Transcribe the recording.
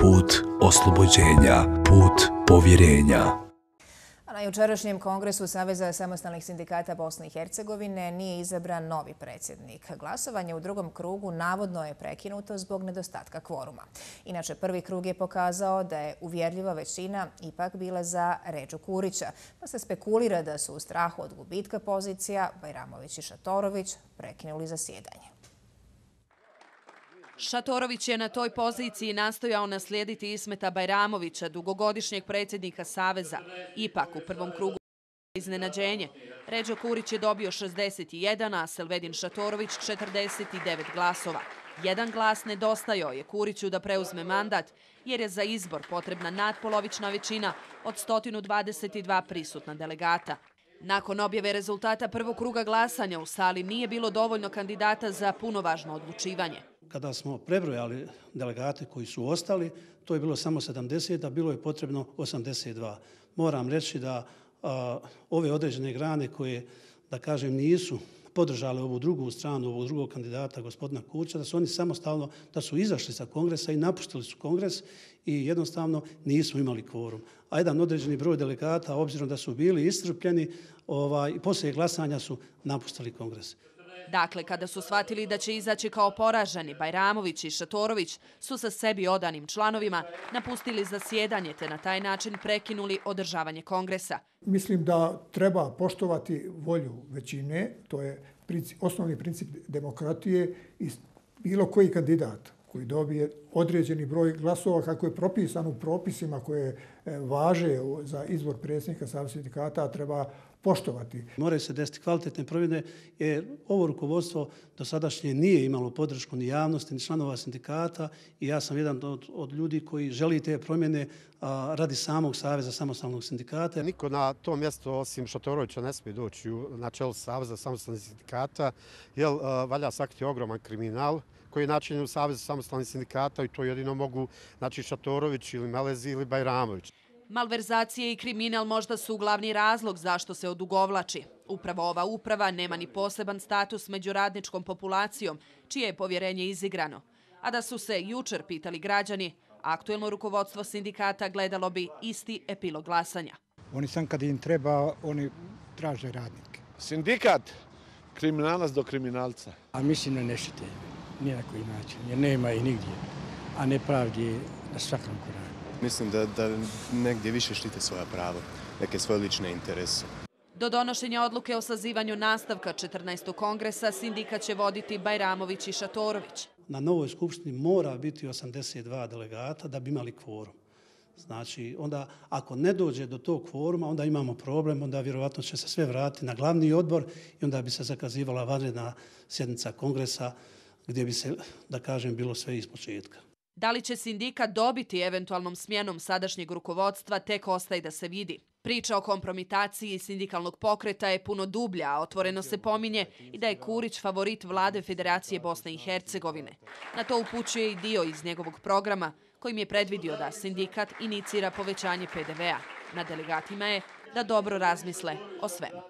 put oslobođenja, put povjerenja. Na jučerašnjem kongresu Saveza samostalnih sindikata Bosne i Hercegovine nije izabran novi predsjednik. Glasovanje u drugom krugu navodno je prekinuto zbog nedostatka kvoruma. Inače, prvi krug je pokazao da je uvjerljiva većina ipak bila za Redžu Kurića, pa se spekulira da su u strahu od gubitka pozicija Bajramović i Šatorović prekinuli zasjedanje. Šatorović je na toj poziciji nastojao naslijediti Ismeta Bajramovića, dugogodišnjeg predsjednika Saveza. Ipak u prvom krugu iznenađenje. Redžo Kurić je dobio 61, a Selvedin Šatorović 49 glasova. Jedan glas nedostajao je Kuriću da preuzme mandat, jer je za izbor potrebna nadpolovična većina od 122 prisutna delegata. Nakon objave rezultata prvog kruga glasanja u sali nije bilo dovoljno kandidata za punovažno odlučivanje. Kada smo prebrojali delegate koji su ostali, to je bilo samo 70, a bilo je potrebno 82. Moram reći da ove određene grane koje, da kažem, nisu podržale ovu drugu stranu, ovog drugog kandidata, gospodina Kurića, da su oni samostalno, da su izašli sa kongresa i napustili su kongres i jednostavno nismo imali kvorum. A jedan određeni broj delegata, obzirom da su bili iscrpljeni, poslije glasanja su napustili kongres. Dakle, kada su shvatili da će izaći kao poraženi, Bajramović i Šatorović su sa sebi odanim članovima napustili zasjedanje te na taj način prekinuli održavanje kongresa. Mislim da treba poštovati volju većine, to je osnovni princip demokratije, i bilo koji kandidat koji dobije određeni broj glasova kako je propisan u propisima koje važe za izbor predsjednika Saveza sindikata treba poštovati. Moraju se desiti kvalitetne promjene jer ovo rukovodstvo dosadašnje nije imalo podršku ni javnosti ni članova sindikata i ja sam jedan od ljudi koji želi te promjene radi samog Saveza samostalnog sindikata. Niko na to mjesto osim Šatorovića ne smije doći na čelo Saveza samostalnih sindikata jer valja sakriti ogroman kriminal koji je načinjen u Savezu samostalnih sindikata i to jedino mogu Šatorović ili Melezi ili Bajramović. Malverzacije i kriminal možda su glavni razlog zašto se odugovlači. Upravo ova uprava nema ni poseban status među radničkom populacijom, čije je povjerenje izigrano. A da su se jučer pitali građani, aktuelno rukovodstvo sindikata gledalo bi isti epilog glasanja. Oni sam kad im treba, oni traže radnike. Sindikat kriminalac do kriminalca. A mislim da ne štite, nije na koji način, jer nema i nigdje, a nepravdi na svakom koraku. Mislim da negdje više štite svoja prava, neke svoje lične interese. Do donošenja odluke o sazivanju nastavka 14. kongresa sindikat će voditi Bajramović i Šatorović. Na novoj skupštini mora biti 82 delegata da bi imali kvorum. Znači, onda ako ne dođe do tog kvoruma, onda imamo problem, onda vjerovatno će se sve vratiti na glavni odbor i onda bi se zakazivala vanredna sjednica kongresa gdje bi se, da kažem, bilo sve ispočetka. Da li će sindikat dobiti eventualnom smjenom sadašnjeg rukovodstva, tek ostaje da se vidi. Priča o kompromitaciji sindikalnog pokreta je puno dublja, a otvoreno se pominje i da je Kurić favorit vlade Federacije Bosne i Hercegovine. Na to upućuje i dio iz njegovog programa, kojim je predvidio da sindikat inicira povećanje PDV-a. Na delegatima je da dobro razmisle o svemu.